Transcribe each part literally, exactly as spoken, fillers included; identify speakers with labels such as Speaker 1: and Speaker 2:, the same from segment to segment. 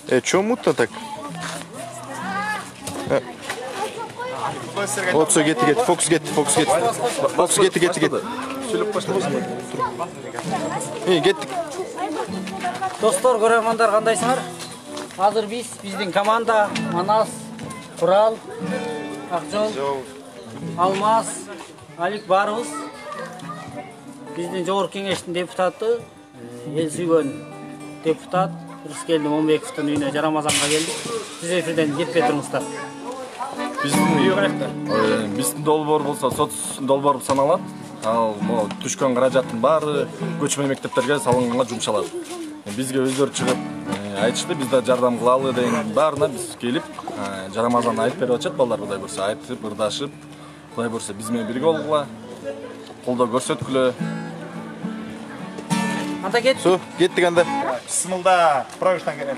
Speaker 1: Э, чё мутно так? Вот все, кетти, кетти, фокус кетти, фокус кетти. Фокус кетти, кетти, кетти. Эй, кеттик.
Speaker 2: Достор, көрөрмандар, кандайсыңар? Азыр биз, биздин команда, Манас, Курал, Акжол, Алмаз, Алик барыбыз. Биздин жогорку кеңештин депутаты, эл сүйгөн депутат Рыскелди Момбековдун үйүнө Жарамазанга келдик. Сиз эфирден кетпей туруңуздар.
Speaker 3: Биздин биздин долбоор болсо соц долбоор саналат. Ал могу түшкөн каражаттын баары көчмө мектептерге салынганга жумшалат. Бизге өздөрү чыгып айтышты, биз да жардам кылалы деген баарына биз келип, Жарамазан айтып берип атышат, балдар Кудай бурса айтып, ырдашып, Кудай бурса биз менен бирге болгула, колдоо көрсөткүлө.
Speaker 2: Анда кет.
Speaker 1: Су, кеттик анда.
Speaker 4: Бисмилда, проектан келем.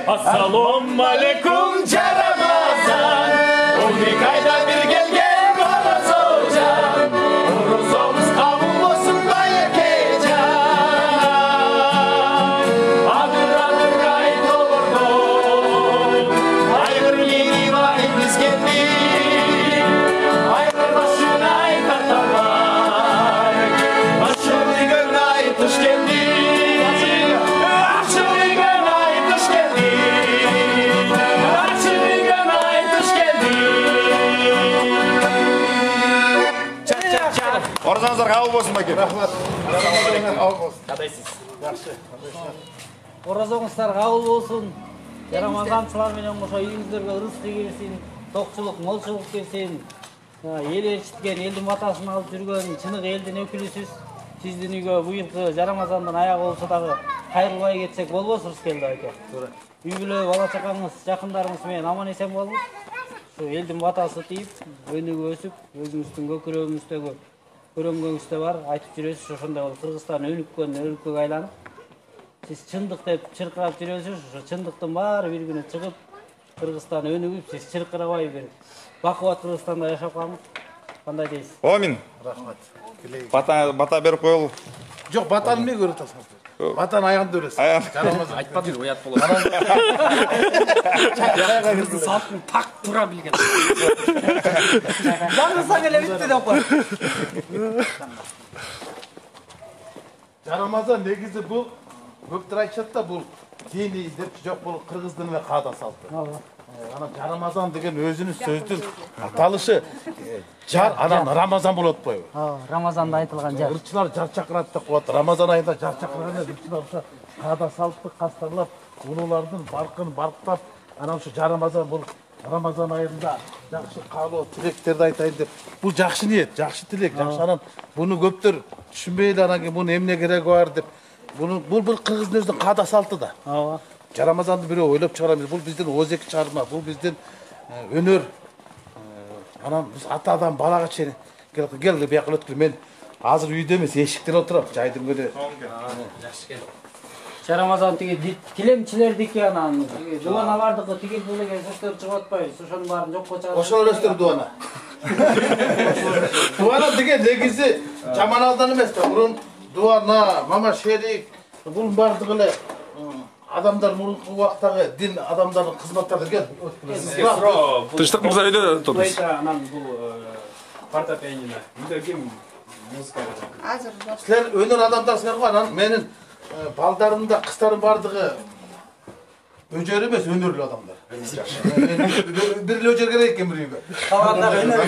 Speaker 5: Assalamu alaikum Caramazan. Onu kayda bir gelgen Oruz olcan. Oruz olmuş kavun olsun bayakecan. Adır adır ait olurdu. Aygır yeni vay biz geldik. Aygır başına ait atamay. Başını gönlü ait hoş geldik.
Speaker 4: Оразаңыздар кабыл болсун баке. Рахмат.
Speaker 2: Кадайсыз? Жакшы. Оразаңыздар кабыл болсун. Жарамазанчылар менен кошо үйүңүздөргө ырыс келсин, токчулук, молчулук келсин. Эл ээрчиткен, элдин батасын алып жүргөн чыныгы элдин өкүлүсүз. Сиздин үйгө быйылкы Жарамазандын аягы болсо дагы кайрылбай кетсек болбосу Рыскелди айке. Туура. Үй бүлө, бала чакаңыз, жакындарыңыз менен аман эсен болуңуз. Şu eldim batası deyip, önüge ösüp, özümüzün göküröğümüzdегі көрөнгөнүздө бар, айтып жүрөсүз, ошондой болуп Кыргызстан өнүккөн, өнүккөнгө айланып. Сиз чындык деп чыркырап жүрөсүз, ошо чындыктын баары бир күнү чыгып, Кыргызстан өнүгүп, сиз чыркырабай бир бакубат Кыргызстанда жашап калыңыз. Кандай дейсиз?
Speaker 4: Амин. Рахмат. Бата бата берип коелу.
Speaker 6: Жок, батаны эмне көрүп атасыңыз? Батаны аягында өрөсүз.
Speaker 5: Жарамазан айтпады бир уят болот. Кыргыздын салтын так туура билген.
Speaker 2: Жаңырсаң эле битти деп кой.
Speaker 6: Жарамазан негизи бул көптөр айтышат да бул дини деп жок бул кыргыздын эле каада салты. Анан Жарамазан деген өзүнүн сөздүн аталышы жар анан Рамазан болот атпайбы?
Speaker 2: Ооба, Рамазанда айтылган жар.
Speaker 6: Ырчылар жар чакырат деп коет. Рамазан айында жар чакырганда ырчылар ошо каада салтты кастарлап, улуулардын баркын барктап, анан ошо Жарамазан бул Рамазан айында жакшы каалоо тилектерди айтайын деп. Бул жакшы ниет, жакшы тилек, жакшы анан буну көптөр түшүнбөй эле анан кийин мунун эмне кереги бар деп. Буну бул бул кыргыздын өзүнүн каада салты да.
Speaker 2: Ооба.
Speaker 6: Жарамазанды бирөө ойлоп чыгара эмес. Бул биздин озеки чыгарма, бул биздин өнөр. Анан биз атадан балага чейин кел кел бияка өткүл. Мен азыр үйдө эмес, эшикте отурам, жайдын көдө.
Speaker 2: Жакшы экен. Жарамазан тиги тилемчилердики анан дубаналардыкы тигил бул деген сөздөр чыгып атпайбы? Ошонун баарын жокко чыгарып.
Speaker 6: Ошол элестер дубана. Дубана деген негизи жаманалдан эмес да. Мурун дубана, мама шерик, бул бардыгы эле адамдар мурунку убактагы дин адамдардын кызматтары кел.
Speaker 3: Тынчтык мырза үйдө отурбуз.
Speaker 7: Анан бул фортепиано үйдө ким музыка жазат?
Speaker 8: Азыр
Speaker 6: Силер өнөр адамдарсыңар го, анан менин балдарым да кыздарым бардыгы өжөр эмес, өнөрлүү адамдар. Бир эле өжөр керек экен бир үйгө.
Speaker 2: Калгандар өнөр.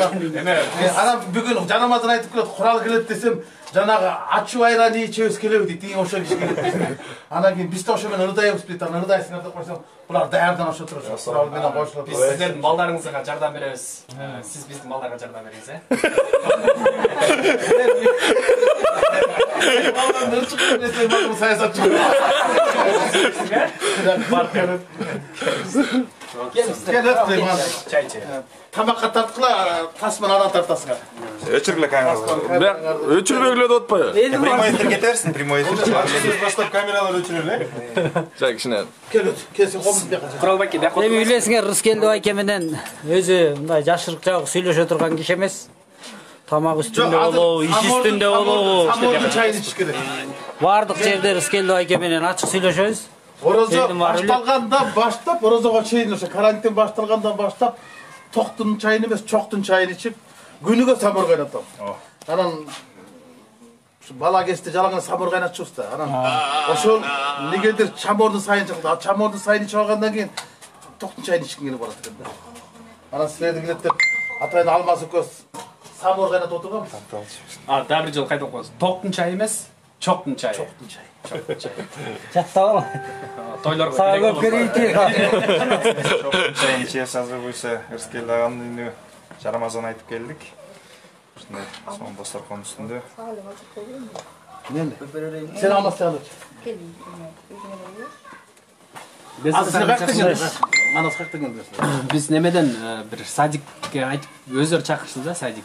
Speaker 6: Анан бүгүн Жарамазан айтып келет, курал келет десем, жанагы ачуу айран ичебиз келеби дейт, тиги ошо киши келет. Анан кийин биз да ошо менен ырдайбыз дейт, анан ырдайсыңар деп койсом, булар даярдан ошо турушат. Курал менен кошулуп.
Speaker 7: Биз сиздердин балдарыңызга жардам беребиз. Сиз биздин балдарга жардам бериңиз, э?
Speaker 6: Балдар чыгып десем, бул саясатчы. Келет дейм анан.
Speaker 7: Чай чай.
Speaker 6: Тамакка тарткыла, тасман анан тартасыңар.
Speaker 4: Өчүргүлө камералар.
Speaker 3: Бияк өчүрбөгүлө деп атпайбы?
Speaker 4: Прямой эфир кетерсиң, прямой эфир.
Speaker 6: Баштап камералар өчүрөлү.
Speaker 3: Жай кичине.
Speaker 6: Келет, келсең комуз бияка.
Speaker 7: Куралбек бияка.
Speaker 2: Эми билесиңер, Рыскелди байке менен өзү мындай жашырык жагы сүйлөшө турган киши эмес. Тамак үстүндө болобу, иш үстүндө болобу,
Speaker 6: Самордун чайын ичиш керек.
Speaker 2: баардык жерде Рыскелди байке менен ачык сүйлөшөбүз.
Speaker 6: Орозо башталгандан баштап, орозого чейин ошо карантин башталгандан баштап токтун чайын эмес, чоктун чайын ичип, күнүгө самор кайнатам. Анан бала кезде жалаңа самор кайнатчубуз да. Анан ошол негедир чамордун сайын чыкты. Чамордун сайын ичип алгандан кийин токтун чайын ичким келип барат экен да. Анан силерди келет деп атайын Алмаз экөөбүз самор кайнатып отурганбыз.
Speaker 7: А, дагы бир жолу кайтып коебуз. Токтун чайы эмес, чоктун чайы.
Speaker 6: Токтун чайы.
Speaker 2: Жаттап ал.
Speaker 7: Тойлорго
Speaker 2: Сага көп керейти.
Speaker 4: Чайын чеяс азыр буйса Рыскелди аганын үйүнө Жарамазан айтып келдик. Ушундай соң дасторкон үстүндө.
Speaker 6: Мен сен алмастан өт.
Speaker 8: келдим.
Speaker 6: Азыр сен кайттың? Манас кайттың келдиң?
Speaker 7: Биз немеден бир садикке айтып өздөрү чакырышты да, садик.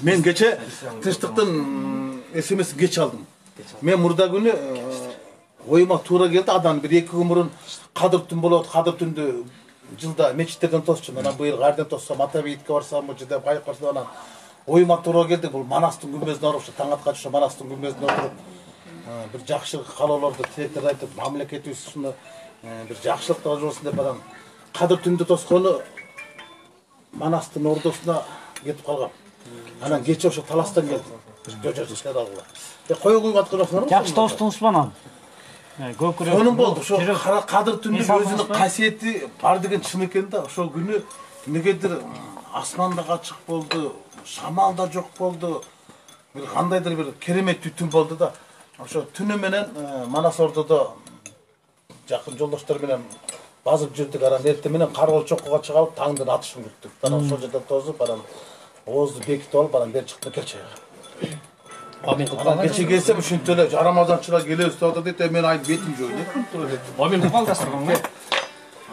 Speaker 6: Мен кече тынчтыктын эсемесин кеч алдым. Мен мурда күнү оюма туура келди, адам бир эки күн мурун кадыр түн болот, кадыр түндү жылда мечиттерден тосчумун. Анан быйыл кайерден тоссам, ата бейитке барсамбы деп байкасам, анан оюма туура келди. Бул Манастын күмбөзүнө барып, ушу таң аткачы ушу Манастын күмбөзүнө отуруп, бир жакшылык каалоолорду, тилектерди айтып, мамлекетибиз ушуну бир жакшылыкта болбосун деп анан кадыр түндү тоскону Манастын ордосуна кетип калгам. Анан кече ошо таластан келдим. Жожожуштар алгыла. Э кое куйуп аткырасыңар.
Speaker 2: Жакшы тостуңузбу анан? Көкүрөк.
Speaker 6: Сонун болду. Ошо кадыр түндүн өзүнүн касиети бар деген чын экен да. Ошол күнү негедир асманда ачык болду, шамал да жок болду. Бир кандайдыр бир керемет түн болду да. Ошо түнү менен Манас ордодо жакын жолдоштор менен базып жүрдүк. Анан эртең менен каргыл чоккуга чыга алып таңдын атышын күттүк. Анан ошол жерден тосуп, анан оозду бекитип алып, анан бери чыктык кел чайга. Анан кече келсем ушинтип эле Жарамазанчылар келебиз деп атат дейт. Мен айт бетим жок эле.
Speaker 7: Момин купал дасторконго.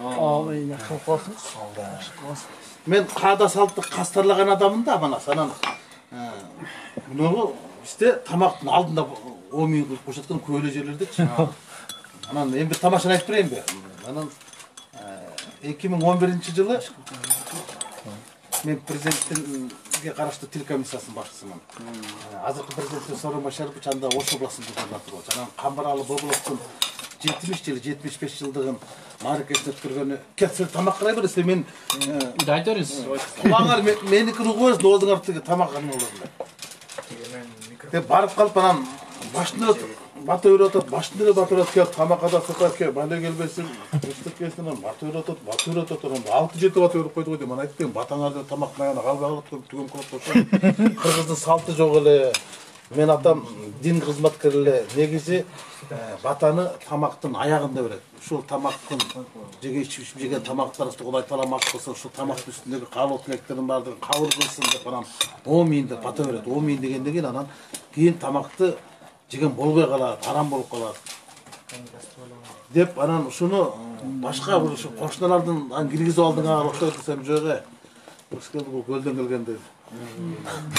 Speaker 2: Ооба, жакшы болсун.
Speaker 6: Мен каада салтты кастарлаган адаммын да, Манас. Анан муну бизде тамактын алдында омин кылып коюшаткан көөлө жерлердечи. Анан эми бир тамашаны айтып берейинби? Анан эки миң он биринчи жылы мен президенттинге караштуу тил комиссиясынын башчысымын. Азыркы президенттин Сооронбай Башарович анда Ош областынын губернатору болчу. Анан Камбаралы Боголовдун жетимиш жыл, жетимиш беш жылдыгын мааракесин өткөргөнү. Кесир тамак карай берсе мен
Speaker 7: Үйдө айта бериңиз.
Speaker 6: Улаңар меникин угубуз, доозуңар тиги тамак анын олор. Деп барып калып анан башына бата үйрөтөт, баштын эле бата үйрөтөт, келип тамакка да сыкат, бале келбесин, ыстык келсин, бата үйрөтөт, бата үйрөтөт, анан алты жети бата үйрөп койду го дейм. Аны айтпайм, батаңарды тамактын аягына калбай калат, түгөм кылат болсо. Кыргыздын салты жок эле. Мен атам дин кызматкери эле, негизи батаны тамактын аягында берет. Ушул тамактын жеге ичип жеген тамактарыбызды Кудай таламак кылсын, ушул тамактын үстүндөгү кабыл тилектердин баардыгын кабыл кылсын деп анан он миң деп бата берет. он миң дегенден кийин анан кийин тамакты жеген болбой калат, арам болуп калат. Деп анан ушуну башка бир ушу кошуналардын ан киргизип алдыңа октой десем жок э. Бул көлдөн келгенде.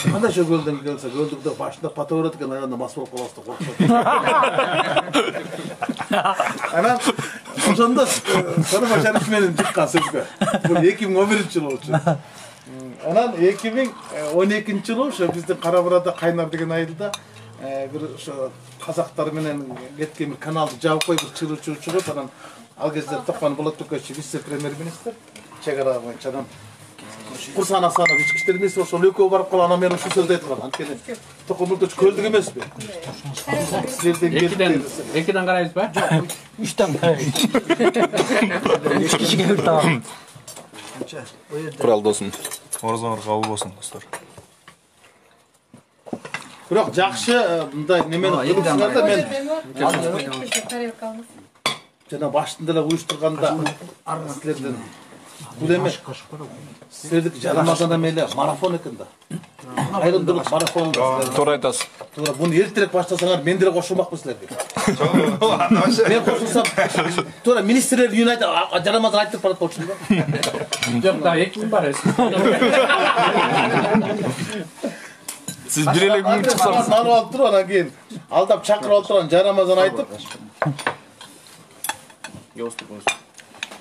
Speaker 6: Кандай ошо көлдөн келсе, көлдүктө башында бата берет экен, аягында мас болуп калабыз деп коркушат. Анан ошондо Сарыбаш Шарип менен чыккан сөзгө. Бул эки миң он биринчи жыл болчу. Анан эки миң он экинчи жылы ошо биздин Кара Бурада Кайнар деген айылда бир ошо казактар менен кеткен бир каналды жаап коюп бир чыгуучу чыгып, анан ал кезде Токман Болотбекович вице-премьер-министр чек ара боюнча анан Курсан Асанов ички иштер министри ошол экөө барып калган, анан мен ушул сөздү айткан. Анткени Токман Болотбекович көлдүк эмеспи? Силерден
Speaker 7: Экиден экиден карайбызбы?
Speaker 2: Жок, үчтөн карайбыз. Эч кишиге бир табак.
Speaker 1: Курал досум.
Speaker 4: Оразаңар кабыл болсун достор.
Speaker 6: Бирок жакшы мындай немени кылсаңар да, мен жана баштын деле уюштурганда силерден бул эме силердики жарамазан эме эле марафон экен да. Айрымдуулук марафон.
Speaker 1: Туура айтасыз.
Speaker 6: Туура, буну эртерээк баштасаңар мен деле кошулмакмын силерге. Мен кошулсам, туура министрлер үйүнө айтып, жарамазан айтып барат болчумун да.
Speaker 7: Жок да, эки күн бар эсин.
Speaker 1: Сиз бир эле күн чыксаңыз.
Speaker 6: Манып алып туруп, анан кийин алдап чакырып алып турган жарамазан айтып.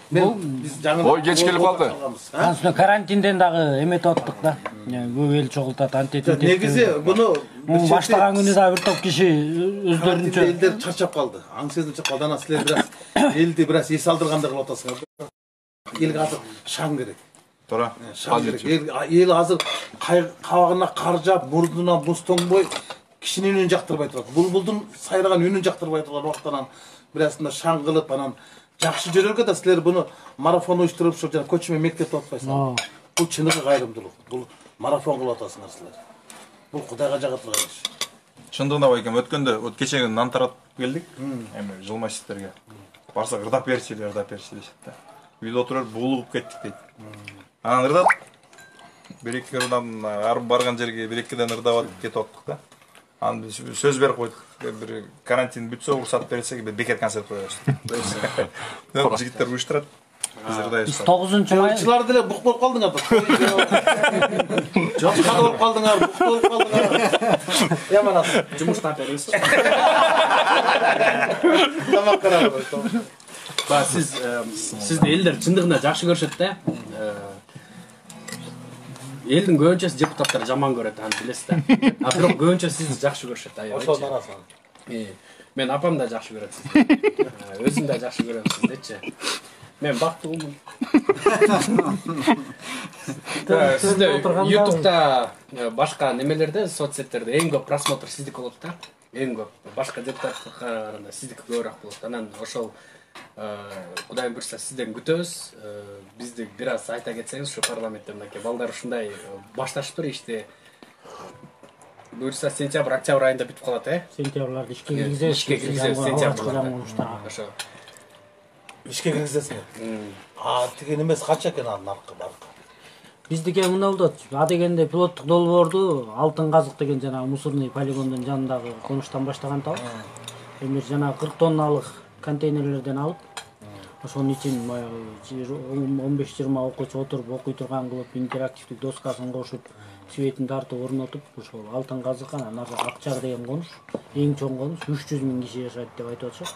Speaker 6: Мен биз жаңы
Speaker 1: Ой, кеч келип калды.
Speaker 2: Ансын карантинден дагы эметип аттык да. Көп эл чогултат, антетип.
Speaker 6: Негизи буну
Speaker 2: баштаган күнү да бир топ киши өздөрүнчө
Speaker 6: элдер чарчап калды. Аң сезип чыккан, анан силер бир аз элди бир аз эс алдыргандай кылып атасыңар. Элге азыр шаң керек.
Speaker 4: Туура.
Speaker 6: Шаң керек. Эл азыр кабагына кар жаап, мурдуна муз тоңбой кишинин үнүн жактырбай турат. Булбулдун сайраган үнүн жактырбай турган убактан бир азында шаң кылып, анан жакшы жөрөлгө да силер буну марафон уюштуруп ошо жана көчмө мектепте отпайсыңар. Бул чыныгы кайрымдуулук. Бул марафон кылып атасыңар силер. Бул Кудайга жага турган иш.
Speaker 4: Чындыгында байкем өткөндө өт кечеге нан таратып келдик. Эми жылмачтарга. Барсак ырдап берчи, ырдап берчи дешти да. Үйдө отуруп буулугуп кеттик дейт. Анан ырдап бир эки ырдан арып барган жерге бир экиден ырдап атып кетип аттык да. Анан биз сөз берип койдук. Бир карантин бүтсө уруксат берсек бир бекер концерт коебуз. Жигиттер уюштурат. Биз ырдайбыз.
Speaker 2: тогузунчу май
Speaker 6: Чылар деле бук болуп калдыңар да. Жок, када болуп калдыңар, бук болуп калдыңар. Яман ат.
Speaker 7: Жумуштан беребиз.
Speaker 6: Тамак карап.
Speaker 7: Ба сиз сизди элдер чындыгында жакшы көрүшөт да. Элдин көбүнчөсү депутаттар жаман көрөт, аны билесиз да. А бирок көбүнчө сизди жакшы көрүшөт, аябай.
Speaker 6: Ошол арасынан.
Speaker 7: Мен апам да жакшы көрөт сизди. Өзүм да жакшы көрөм сиздичи. Мен бактылуумун. Сизде ютубта башка немелерде, соцсеттерде эң көп просмотр сиздики болот да. Эң көп. Башка депутаттарга караганда сиздики көбүрөөк болот. Анан ошол Кудайым буйрса сизден күтөбүз. Бизди бир аз айта кетсеңиз ушу парламентте мынакей балдар ушундай башташыптыр ишти. Буйрса сентябрь, октябрь айында бүтүп калат, э?
Speaker 2: сентябрларды ишке киргизебиз.
Speaker 7: Ишке киргизебиз сентябрда. Ошо.
Speaker 6: Ишке киргизесиңер. А деген эмес канча экен анын наркы баркы?
Speaker 2: Биздики мындай болот. А дегенде пилоттук долбоорду Алтын Казык деген жана мусорный полигондун жанындагы конуштан баштаган табыз. Эми жана кырк тонналык контейнерлерден алып, ошонун ичин он беш жыйырма окуучу отуруп окуй турган кылып, интерактивдик доскасын кошуп, светин тартып орнотуп, ошол Алтын Казык анан Акчар деген конуш, эң чоң конуш, үч жүз миң киши жашайт деп айтып атышат.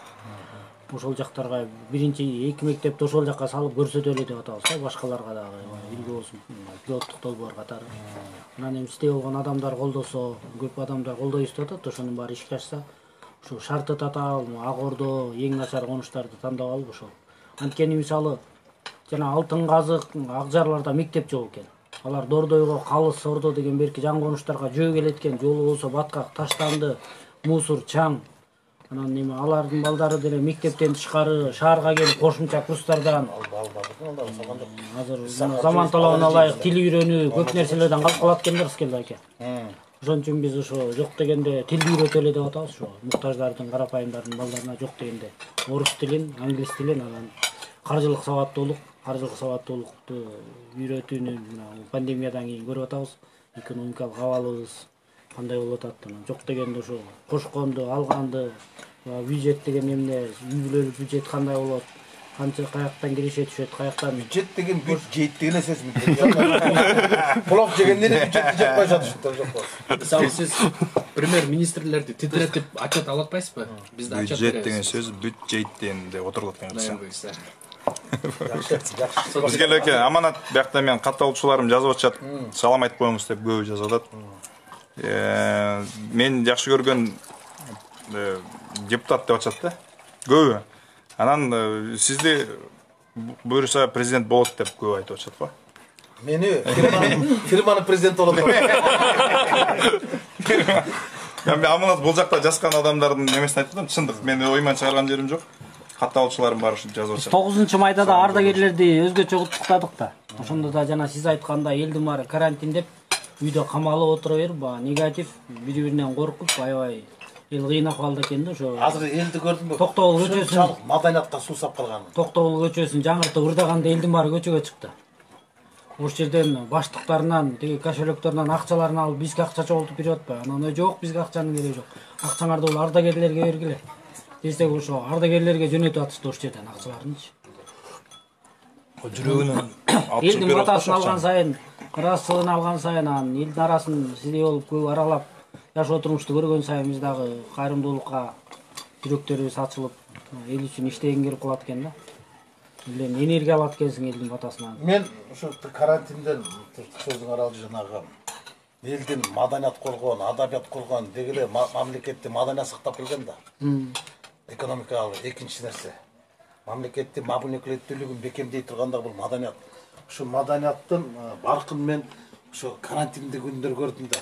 Speaker 2: Ошол жактарга биринчи эки мектепти ошол жакка салып көрсөтөлү деп атабыз да, башкаларга дагы үлгү болсун, пилоттук долбоор катары. Анан эми сите болгон адамдар колдосо, көп адамдар колдойбуз деп атат, ошонун баары ишке ашса, ошо шарты татаал, Ак Ордо эң начар конуштарды тандап алып ошол. Анткени мисалы жана Алтын Казык, Акжарларда мектеп жок экен. Алар Дордойго, Калыс, Ордо деген берки жаңы конуштарга жөө келет экен. Жолу болсо баткак, таштанды, мусор, чаң. Анан неме алардын балдары деле мектептен тышкары шаарга келип кошумча курстардан азыр заман талабына ылайык тил үйрөнүү, көп нерселерден калып калат экендер Рыскелди аке. Ошон үчүн биз ошо жок дегенде тилди үйрөтөлү деп атабыз. Ошо муктаждардын, карапайымдардын балдарына жок дегенде орус тилин, англис тилин, анан каржылык сабаттуулук, каржылык сабаттуулукту үйрөтүүнү мына пандемиядан кийин көрүп атабыз. Экономикалык абалыбыз кандай болуп атат. Анан жок дегенде ошо кошконду, алганды, бюджет деген эмне, үй бүлөлүк бюджет кандай болот, канча каяктан киреше түшөт, каяктан
Speaker 6: бюджет деген бюджет деген эсесин плов жегенден бюджетти жеп кой жатышты жок.
Speaker 7: Мисалы сиз премьер-министрлерди титретип отчет ала атпайсызбы? Бизде отчет
Speaker 4: бюджет деген сөз бюджет деп отурулат экен.
Speaker 6: Жакшы.
Speaker 4: Бизге эке аманат биякта мен катталуучуларым жазып атышат. Салам айтып коюңуз деп көбү жазып атат. Мен жакшы көргөн депутат деп атышат да. Көбү. Анан сизди буюрса президент болот деп көбү айтып атышат го.
Speaker 6: Мени фирманын президенти болот.
Speaker 4: Мен аманат бул жакта жазган адамдардын немесин айтып атам. Чындык, мен ойман чыгарган жерим жок. Катталуучуларым бар ушинтип жазып атышат.
Speaker 2: тогузунчу майда да ардагерлерди өзгөчө куттуктадык да. Ошондо да жана сиз айткандай элдин баары карантин деп үйдө камалып отура берип, баягы негатив бири-биринен коркуп, аябай эл кыйын акыбалда экен да. Ошо
Speaker 6: Азыр элди көрдүңбү?
Speaker 2: Токтогул көчөсүн,
Speaker 6: маданиятка суу сап калган.
Speaker 2: Токтогул көчөсүн жаңыртып ырдаганда элдин баары көчөгө чыкты. Ошол жерден баштыктарынан, тиги кошелектөрүнөн акчаларын алып бизге акча чогултуп берип атпайбы? Анан жок, бизге акчанын кереги жок. Акчаңарды бул ардагерлерге бергиле. Десек ошо ардагерлерге жөнөтүп атышты ошол жерден акчаларынчы.
Speaker 4: Жүрөгүнөн
Speaker 2: Элдин батасын алган сайын, ыраазычылыгын алган сайын, анан элдин арасын сиздей болуп көп аралап жашоо турмушту көргөн сайын биз дагы кайрымдуулукка жүрөктөрүбүз ачылып, эл үчүн иштегин келип калат экен да. Элден энергия алат экенсиң элдин батасынан.
Speaker 6: Мен ошо карантинден сөзүң аралды жанагы элдин маданият колгон, адабият колгон дегеле мамлекетти маданият сактап келген да. Экономикалык экинчи нерсе. Мамлекеттин мамлекеттүүлүгүн бекемдей турганда бул маданият. Ошо маданияттын баркын мен ошо карантинде күндөр көрдүм да.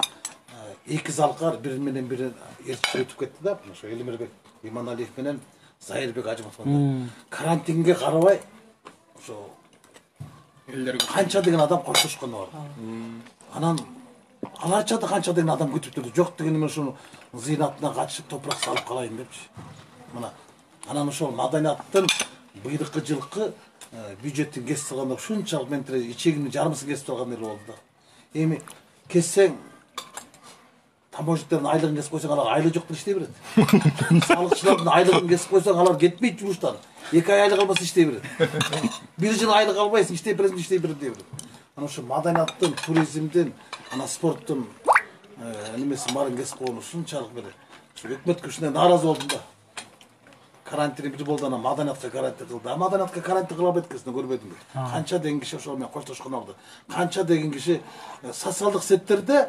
Speaker 6: Эки залкар бири менен бири ээрчип өтүп кетти да. Ошо Элмирбек Иманалиев менен Зайырбек Ажыматов. Карантинге карабай ошо элдер канча деген адам коштошкону бар. Анан аларча да канча деген адам күтүп турду. Жок дегенде мен ошону зыйнатына катышып топурак салып калайын депчи. Мына анан ошол маданияттын быйрыккы жылкы бюджеттин кесип турганда ушунчалык менен ичегимдин жарымысын кесип турган эл болду да. Эми кессең таможниктардын айлыгын кесип койсоң алар айлы жок деп иштей берет. Салыкчылардын айлыгын кесип койсоң алар кетпейт жумуштан. эки ай айлык албаса иштей берет. Бир жыл айлык албайсың, иштей бересиң, иштей берет дей берет. Анан ошо маданияттын, туризмдин, анан спорттун немесин баарын кесип койгон ушунчалык бир өкмөткө ушундай нааразы болдум да. Карантин бир болду, анан маданиятка карантин кылды. А маданиятка карантин кыла албайт экенсиң, көрбөдүңбү? Канча деген киши ошол менен коштошкон алды. Канча деген киши социалдык сеттерде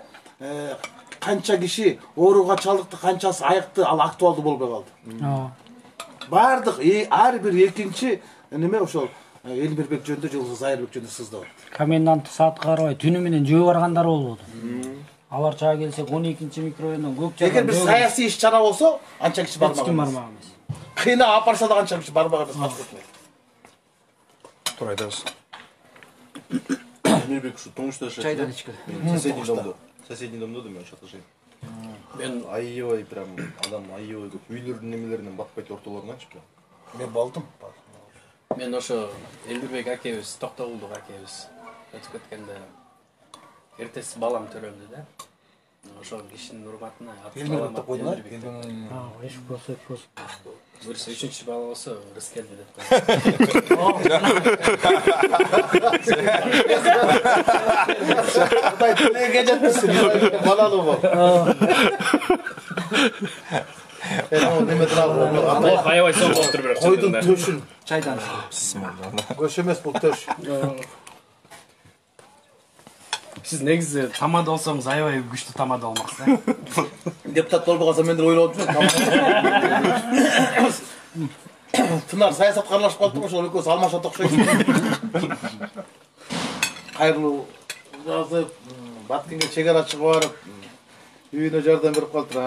Speaker 6: канча киши ооруга чалдыкты, канчасы айыкты, ал актуалдуу болбой калды. Бардык ар бир экинчи неме ошол Элмирбек жөнүндө же болбосо Зайырбек жөнүндө сыздап атты.
Speaker 2: Комендант саатка карабай түнү менен жөө баргандар болбоду. Алар чаga келсек он экинчи микрорайондон көк жаган.
Speaker 6: Эгер бир саясий иш чара болсо, анча киши бармаган.
Speaker 2: Бармаган.
Speaker 6: Кыйна алып барса да канча киши бармаган эмес.
Speaker 4: Туура айтасыз.
Speaker 1: Элмирбек ушу тумушта жашайт.
Speaker 2: Чайдан ички.
Speaker 1: Соседний домдо. Соседний домдо да мен ошол жашайм.
Speaker 7: Мен
Speaker 1: аябай прям адам аябай көп үйлөрдүн немелеринен батпайт ортолорунанчы.
Speaker 6: Мен болдум.
Speaker 7: мен ошо Элмирбек акебиз, Токтогулдук акебиз өтүп кеткенде эртеси балам төрөлдү да. Ошол кишинин урматына
Speaker 6: Элмирбекти койдуңар.
Speaker 2: А, эч болсо болсо.
Speaker 7: Буюрса үчүнчү бала болсо Рыскелди деп
Speaker 6: Кудай тилеге жетпесин, балалуу бол. Неме туралы?
Speaker 7: аябай соң болуп туруп берет.
Speaker 6: Койдун төшүн
Speaker 2: Чайдан.
Speaker 6: көш эмес бул төш.
Speaker 7: Сиз негизи тамада болсоңуз аябай күчтүү тамада болмаксыз.
Speaker 6: Депутат болбой калса мен деле ойлоп жүрөм. Тынар саясатка аралашып калдым, ошол экөөсү алмашат окшойт. Кайрылуу жазып, Баткенге чек ара чыгып барып, үйүнө жардам берип калдыр.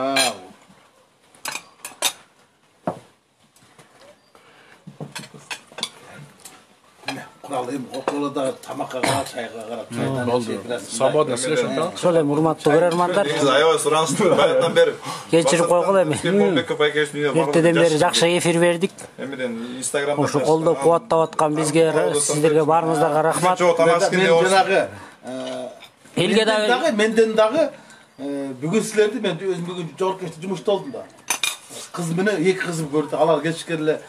Speaker 6: ал эми окуяларда тамакка карап, чайга карап, чайдан
Speaker 7: Болду. Свободно сүйлөшүп атабыз.
Speaker 8: Ошол эми урматтуу көрөрмандар,
Speaker 4: Негизи аябай суранычтуу баягыдан бери.
Speaker 8: кечирип койгула эми.
Speaker 4: Болбеков акебиздин үйүнө барып
Speaker 8: Эртеден бери жакшы эфир бердик.
Speaker 4: Эмеден Инстаграмда
Speaker 8: Ушу колдоп кубаттап аткан бизге, сиздерге баарыңыздарга рахмат.
Speaker 6: мен жанагы
Speaker 8: Элге
Speaker 6: дагы
Speaker 8: дагы
Speaker 6: менден дагы бүгүн силерди мен өзүм бүгүн жогорку кечте жумушта болдум да. Кыз менен эки кызым көрдү. Алар кечке эле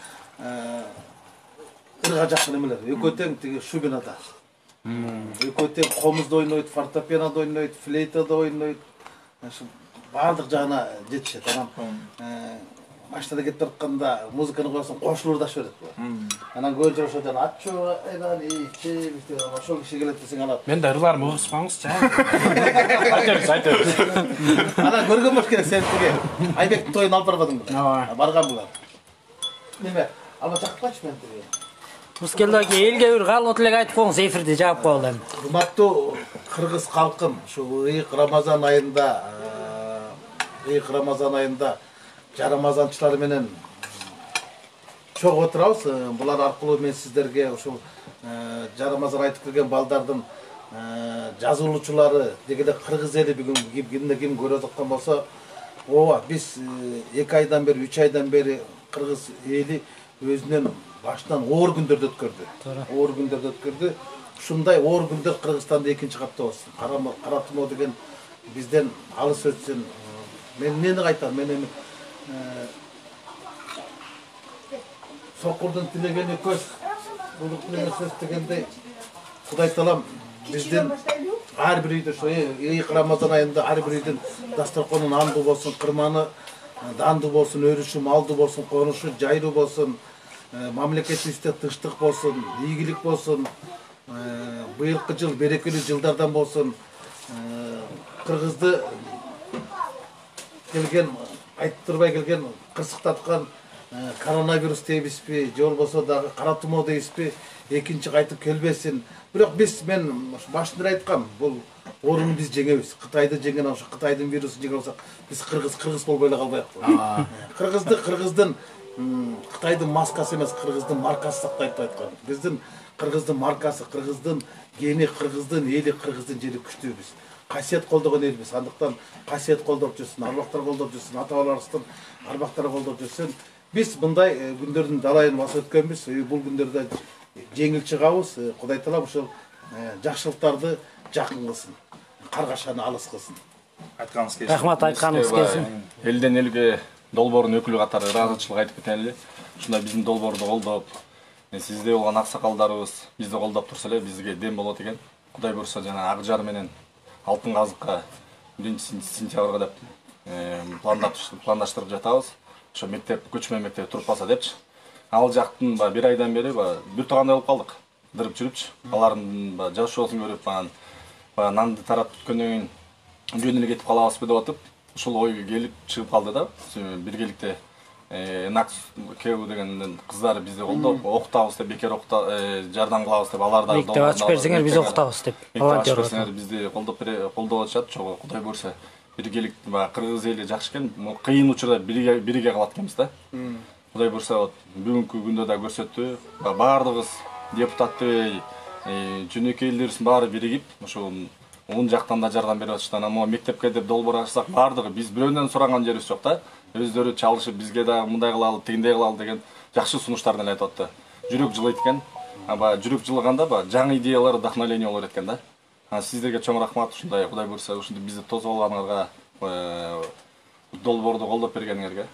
Speaker 6: ырга жакын эмелер. Экөө тең тиги шубинада. Экөө тең комузда ойнойт, фортепианода ойнойт, флейтада ойнойт. Ошо баардык жагына жетишет. Анан машинада кетип баратканда музыканы коесоң кошулуп да берет. Анан көбүнчө ошо жана аччоо айдан ичи ошол киши келет десең анан.
Speaker 7: Мен да ырларымы угуспаңызчы. Айтабыз, айтабыз.
Speaker 6: Анан көргөн болуш керек сен тиги Айбектин тоюн алып барбадыңбы?
Speaker 7: Ооба.
Speaker 6: Барган булар. Неме? Алба чакыртпачы мен тиги.
Speaker 8: Мускелде аке элге бир каалоо тилек айтып коюңуз, эфирди жаап коелу эми.
Speaker 6: Урматтуу кыргыз калкым, ушу ыйык Рамазан айында, ыйык Рамазан айында жарамазанчылар менен чогуу отурабыз. Булар аркылуу мен сиздерге ушул жарамазан айтып келген балдардын жазуулучулары деги эле кыргыз эли бүгүн кимде ким көрүп аткан болсо, ооба биз эки айдан бери, үч айдан бери кыргыз эли өзүнүн башынан оор күндөрдү өткөрдү. Оор күндөрдү өткөрдү. Ушундай оор күндөр Кыргызстанда экинчи катта болсун. Каратмоо деген бизден алыс өтсүн. Мен эмнени айтам? Мен эми сокурдун тилегени көз, булук тилеген сөз дегендей Кудай таалам биздин ар бир үйдө ошо ыйык Рамазан айында ар бир үйдүн дасторконун андуу болсун, кырманы дандуу болсун, өрүшү малдуу болсун, конушу жайлуу болсун, мамлекетибизде тынчтык болсун, ийгилик болсун, быйылкы жыл берекелүү жылдардан болсун, кыргызды келген, айтып турбай келген, кырсыктаткан коронавирус дейбизби, же болбосо дагы кара тумоо дейбизби, экинчи кайтып келбесин. Бирок биз мен башында айткам, бул ооруну биз жеңебиз. Кытайды жеңген ошо Кытайдын вирусун жеңе алсак, биз кыргыз кыргыз болбой эле калбайбыз. Кыргызды кыргыздын Кытайдын маскасы эмес, кыргыздын маркасы сактайт деп айткан. Биздин кыргыздын маркасы, кыргыздын гени, кыргыздын эли, кыргыздын жери күчтүүбүз. Касиет колдогон элбиз. Андыктан касиет колдоп жүрсүн, арбактар колдоп жүрсүн, ата-бабаларыбыздын арбактары колдоп жүрсүн. Биз мындай күндөрдүн далайын басып өткөнбүз. Бул күндөрдө жеңил чыгабыз. Кудай таалам ушул жакшылыктарды жакын кылсын. Каргашаны алыс кылсын.
Speaker 4: Айтканыңыз келсин.
Speaker 8: Рахмат, айтканыңыз келсин.
Speaker 3: Элден элге долбоордун өкүлү катары ыраазычылык айтып кетели эле. Ушундай биздин долбоорду колдоп, сизде болгон аксакалдарыбыз бизди колдоп турса эле бизге дем болот экен. Кудай буйрса жана Ак Жар менен Алтын Казыкка биринчи сентябрга деп пландаштырып жатабыз. Ошо мектеп, көчмө мектеп туруп калса депчи. Ал жактын ба бир айдан бери ба бир туугандай болуп калдык. Дырып жүрүпчү. Алардын ба жашоосун көрүп, баягы нанды таратып бүткөндөн кийин жөн эле кетип калабызбы деп атып, ушул ой келип чыгып калды да. Биргеликте Энак Кеу деген кыздар бизди колдоп, окутабыз деп, бекер окута жардам кылабыз деп, алар да
Speaker 8: Мектеп ачып берсеңер биз окутабыз деп.
Speaker 3: Волонтер берсеңер бизди колдоп колдоп атышат. Чогуу Кудай буйрса биргелик баягы кыргыз эли жакшы экен. Кыйын учурда бирге бирге калат экенбиз да. Кудай буйрса бүгүнкү күндө да көрсөттү. Баардыгыбыз депутаттыбы, жөнөкөй элдерибиздин баары биригип, ошо он жактан да жардам берип атышты. Анан могу мектепке деп долбоор ачсак, баардыгы биз бирөөнөн сураган жерибиз жок да. Өздөрү чалышып бизге да мындай кылалы, тигиндей кылалы деген жакшы сунуштарды айтып атты. Жүрөк жылыйт экен. Аба жүрөк жылыганда ба жаңы идеялар, вдохновение болот экен да. Сиздерге чоң рахмат, ушундай Кудай буйрса ушундай бизди тосуп алганыңарга, долбоорду колдоп бергениңерге.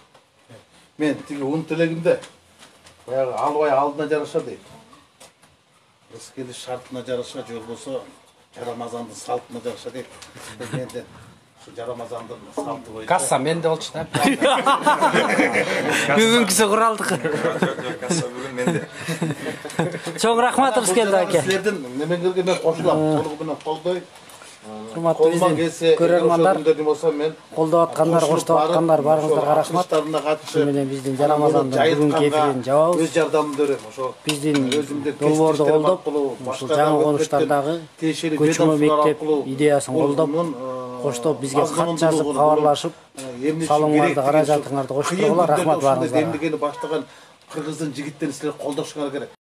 Speaker 6: Мен тиги ун тилегимде баягы албай алдына жараша дейт. Рыс келиш шартына жараша, же болбосо Жарамазандын салтына жараша дейт. Менден ушу Жарамазандын салты боюнча
Speaker 7: Касса менде болчу да.
Speaker 8: Бүгүнкүсү куралдык.
Speaker 4: Касса бүгүн менде.
Speaker 8: Чоң рахмат Рыскелди аке.
Speaker 6: Силердин немеңерге мен кошулам. Толугу менен колдой.
Speaker 8: Урматтуу биздин көрөрмандар,
Speaker 6: мен
Speaker 8: колдоп аткандар, коштоп аткандар барыңыздарга рахмат. Ошо менен биздин Жарамазандын бүгүнкү эфирин жабабыз.
Speaker 6: Өз жардамын берем. Ошо
Speaker 8: биздин долбоорду колдоп, ушул жаңы конуштардагы көчмө мектеп идеясын колдоп, коштоп бизге кат жазып, кабарлашып, салымыңарды, каражатыңарды коштургула. Рахмат барыңыздарга.
Speaker 6: Эмнегени баштаган кыргыздын жигиттерин силер колдошуңар керек.